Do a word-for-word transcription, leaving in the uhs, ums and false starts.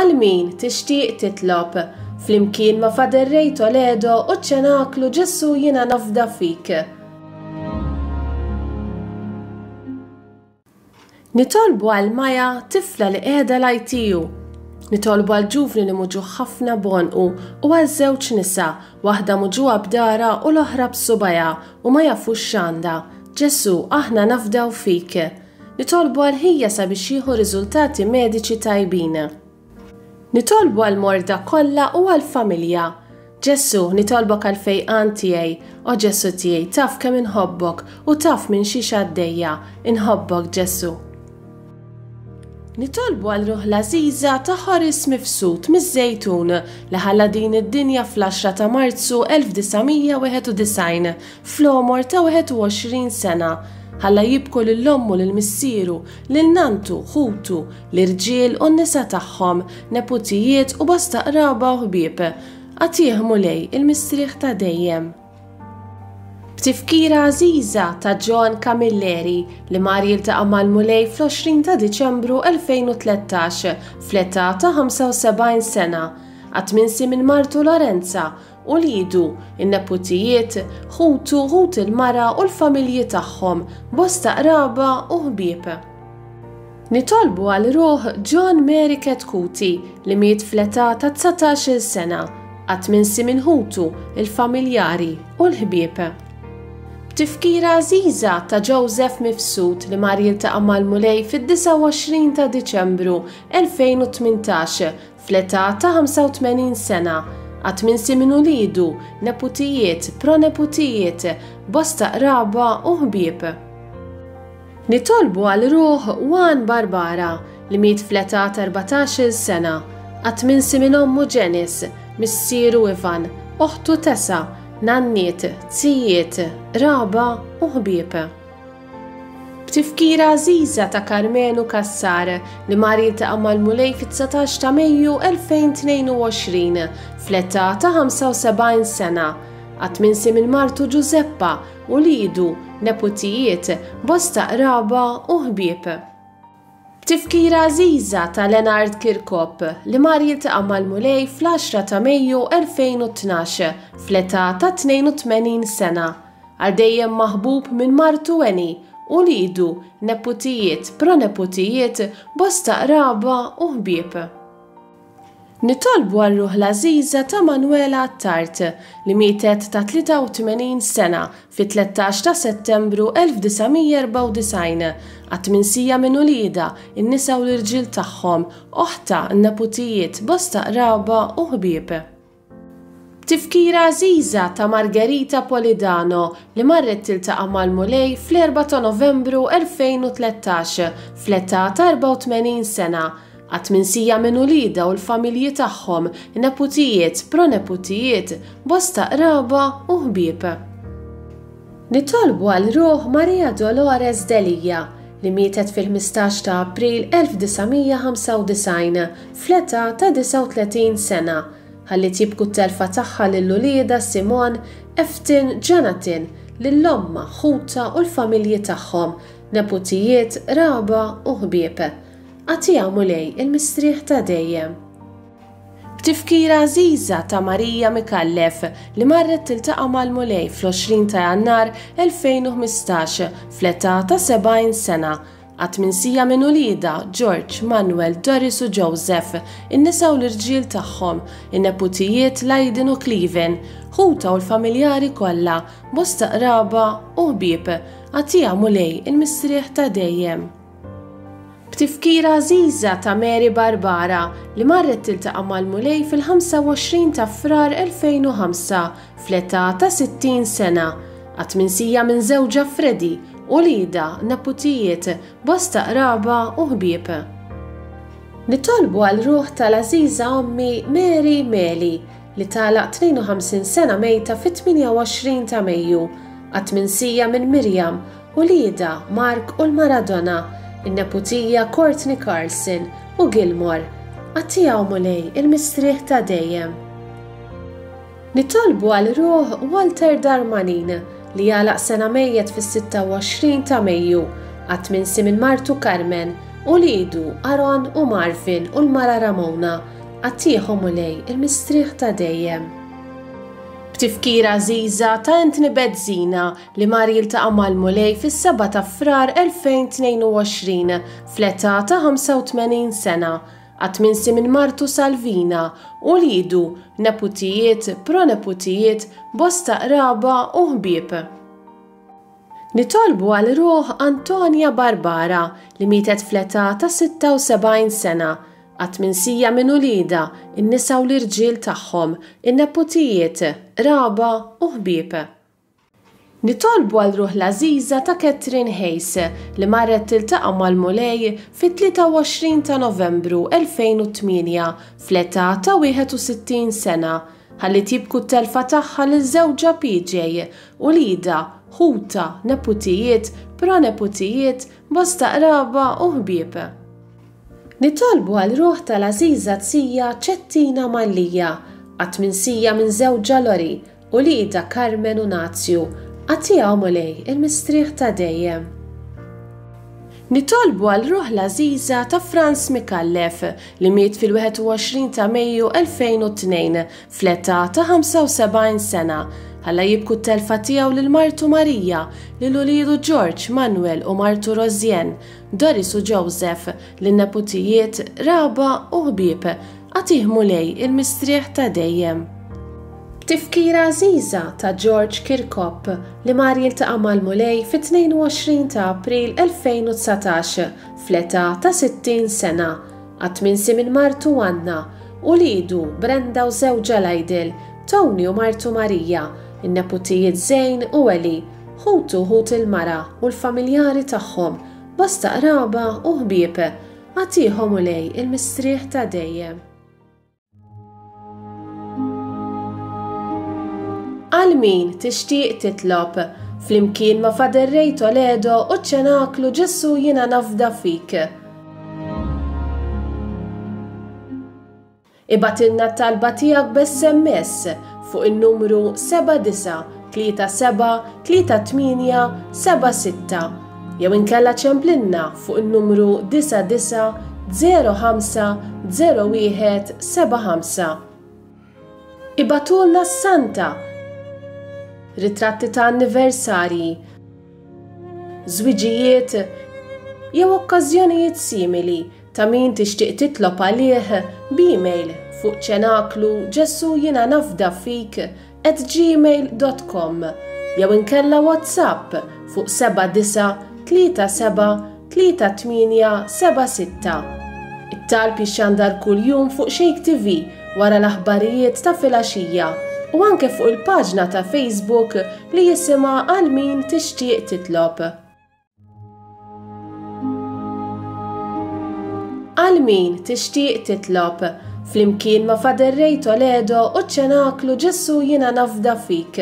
Għal min tixtieq titlob flimkien ma' Father Ray Toledo u ċ-Ċenaklu Ġesù Jiena Nafda Fik. Nitolbu għal Maja, tifla li qiegħda l-I T U. Nitolbu għal ġuvni li muġugħ ħafna b'għonqu u għal żewġ nisa, waħda muġugħa b'dahra u l-oħra b'subgħajha u ma jafux x'għandha. Ġesù, aħna nafdaw fik. Nitolbu għal ħija sabiex jieħu riżultati mediċi tajbin. Nitolbu għal morda kollha u għal familja. Ġesù, nitolbok għal fejqan tiegħi. O Ġesù tiegħi, taf kemm inħobbok u taf minn xiex għaddejja. Inħobbok, Ġesù. Nitolbu għal ruħ l-għażiża ta' Horace Mifsud miż-Żejtun li ħalla din id-dinja fl-għaxra ta' Marzu elf disa' mija wieħed u disgħin fl-għomor ta' wieħed u għoxrin sena. Ħalla jibku lil ommu, lil missieru, lil nantu, ħutu, l-irġiel u n-nisa tagħhom, neputijiet u bosta qraba u ħbieb. Agħtih, Mulej, il-mistrieħ ta' dejjem. B'tifkira għażiża ta' John Camilleri li mar jiltaqa' mal-Mulej fl-għoxrin ta' Diċembru elfejn u tlettax fl-età ta' ħamsa u sebgħin sena. Qatt minsi minn martu Lorenza, uliedu, in-neputijiet, ħutu, ħut il-mara u l-familji tagħhom, bosta qraba u ħbieb. Nitolbu għal ruħ John Mary Ketkuti li miet fl-età ta' dsatax-il sena, qatt minsi minn ħutu, il-familjari u l-ħbieb. B'tifkira għażiża ta' Joseph Mifsud li mar jiltaqa' mal-Mulej fid-disgħa u għoxrin ta' Diċembru elfejn u tmintax fl-età ta' ħamsa u tmenin sena, qatt minsi minn uliedu, neputijiet, proneputijiet, bosta qraba u ħbieb. Nitolbu għal ruħ Juan Barbara li miet fl-età ta' erbatax-il sena, qatt minsi minn ommu Janice, missieru Ivan, oħtu Tessa, nanniet, zijiet, qraba u ħbieb. B'tifkira għażiża ta' Carmenu Cassar li mar jiltaqa' mal-Mulej fit-dsatax ta' Mejju elfejn u tnejn u għoxrin fl-età ta' ħamsa u sebgħin sena, qatt minsi minn martu Giuseppa, uliedu, neputijiet, bosta qraba u ħbieb. B'tifkira għażiża ta' Leonard Kirkop li mar jiltaqa' mal-Mulej fl-għaxra ta' Mejju elfejn u tnax fl-età ta' tnejn u tmenin sena, għal dejjem maħbub minn martu Eni, uliedu, neputijiet, proneputijiet, bosta qraba u ħbieb. Nitolbu għal ruħ l-għażiża ta' Manuela Attard li mietet ta' tlieta u tmenin sena fit-tlettax ta' Settembru elf disa' mija erbgħa u disgħin, qatt minsija minn uliedha, in-nisa u l-irġiel tagħhom, oħtha, neputijiet, bosta qraba u ħbieb. Tifkira għażiża ta' Margherita Polidano li marret tiltaqa' mal-Mulej fl-erbgħa ta' Novembru elfejn u tlettax fl-età ta' erbgħa u tmenin sena, qatt minsija minn uliedha u l-familji tagħhom, neputijiet, proneputijiet, bosta qraba u ħbieb. Nitolbu għal ruħ Maria Dolores Delia li mietet fil-ħmistax ta' April elf disa' mija ħamsa u disgħin fl-età ta' disgħa u tletin sena, ħalliet jibku t-telfa tagħha lil uliedha Simon, Eftin, Jonathan, lil ommha, ħutha u l-familji tagħhom, neputijiet, qraba u ħbieb. Agħtiha, Mulej, il-mistrieħ ta' dejjem. B'tifkira għażiża ta' Marija Mikallef li marret tiltaqa' mal-Mulej fl-għoxrin ta' Jannar elfejn u ħmistax fl-età ta' sebgħin sena, qatt minsija minn uliedha George, Manuel, Doris u Joseph, in-nisa u l-irġiel tagħhom, in-neputijiet Leiden u Cleven, ħutha u l-familjari kollha, bosta qraba u ħbieb. Agħtiha, Mulej, il-mistrieħ ta' dejjem. B'tifkira għażiża ta' Mary Barbara li marret tiltaqa' mal-Mulej fil-ħamsa u għoxrin ta' Frar elfejn u ħamsa fl-età ta' sittin sena, qatt minsija minn żewġha Freddy, uliedha, neputijiet, bosta qraba u ħbieb. Nitolbu għal ruħ tal-għażiża ommi Mary Meli li tagħlaq tnejn u ħamsin sena mejta fit-tmienja u għoxrin ta' Mejju, qatt minsija minn Mirjam, uliedha Mark u l-Maradona, in-neputija Courtney Carlson u Gilmore. Agħtiha, Mulej, il-mistrieħ ta' dejjem. Nitolbu għal ruħ Walter Darmanin li għalaq sena mejjet fis-sitta u għoxrin ta' Mejju, qatt minsi minn martu Carmen, Uliedu Aaron u Marvin u l-mara Ramona, agħtihom Mulej il-mistrieħ ta' dejjem. B'tifkira għażiża ta' Anthony Bezzina li mar jiltaqa' mal-Mulej fis-seba' ta' Frar elfejn tnejn u għoxrin fl-età ta' ħamsa u tmenin sena, qatt minsi minn martu Salvina, uliedu, neputijiet, proneputijiet, bosta qraba u ħbieb. Nitolbu għal ruħ Antonia Barbara li mietet fl-età ta' sitta u sebgħin sena, qatt minsija minn uliedha, in-nisa u l-irġiel tagħhom, in-neputijiet, qraba u ħbieb. Nitolbu għal ruħ l-għażiża ta' Catherine Hayes li marret tiltaqa' mal-Mulej fit-tlieta u għoxrin ta' Novembru elfejn u tmienja fl-età ta' wieħed u sittin sena, ħalli jibku t-telfa tagħha lil żewġha P J, uliedha, ħuta, neputijiet, proneputijiet, bosta qraba u ħbieb. Nitolbu għal ruħ tal-għażiża Zija Ċettina Mallija, qatt minsija minn żewġha Lori, uliedha Carmen u Nazju, agħtiha Mulej il-mistrieħ ta' dejjem. Nitolbu għal ruħ l-għażiża ta' Franz Micallef li miet fil-wieħed u għoxrin ta' Mejju elfejn u tnejn fl-età ta' ħamsa u sebgħin sena, ħalla jibku t-telfa tiegħu lil martu Marija, lil uliedu George, Manuel u martu Rosien, Doris u Joseph, lin neputijiet, raba u ħbieb, agħtih Mulej il-mistrieħ ta' dejjem. B'tifkira għażiża ta' George Kirkop li mar jiltaqa' mal-Mulej fit-tnejn u għoxrin ta' April elfejn u dsatax fl-età ta' sittin sena, qatt minsi minn martu Anna, uliedu Brenda u żewġha Lydel, Tony u martu Marija, in-neputijiet Zane u Eli, ħutu ħut il-mara u l-familjari tagħhom, bosta qraba u ħbieb, agħtihom Mulej il-mistrieħ ta' dejjem. Għal min tixtieq titlob, flimkien ma' Father Ray Toledo u ċ-ċenaklu Ġesù jiena nafda fik. Ibgħatilna t-talba tiegħek b'S M S fuq in-numru seba' disa' tlieta seba' tlieta tmienja seba' sitta jew inkella ċemplinna fuq in-numru disa' disa' zero ħamsa zero wieħed seba' ħamsa. Ibgħatulna s-Santa, ritratti ta' anniversarji, żwiġijiet jew okkażjonijiet simili ta' min tixtieq titlob għalih b'email fuq ċenaklu Ġesù jiena nafda fik at gmail dot com jew inkella WhatsApp fuq seba' disa' tlieta seba' tlieta tmienja seba' sitta. It-talb jixxandar kuljum fuq Shake T V wara l-aħbarijiet ta' filgħaxija u anke fuq il-paġna ta' Facebook li jisimha Għal min tixtieq titlob. Għal min tixtieq titlob, flimkien ma' Father Ray Toledo u ċ-ċenaklu Ġesù jiena nafda fik.